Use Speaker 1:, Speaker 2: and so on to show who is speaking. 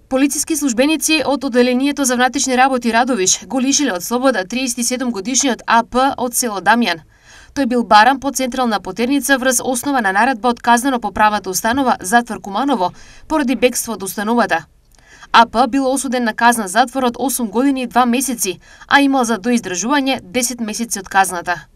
Speaker 1: Полициски службеници од Оделението за внатрешни работи Радовиш го лишиле од слобода 37-годишниот АП од село Дамјан. Тој бил баран по централна потерница врз основа на наредба од казнено-поправната установа затвор Куманово поради бегство од установата. АП бил осуден на казна затвор од 8 години и 2 месеци, а имал за доиздржување 10 месеци од казната.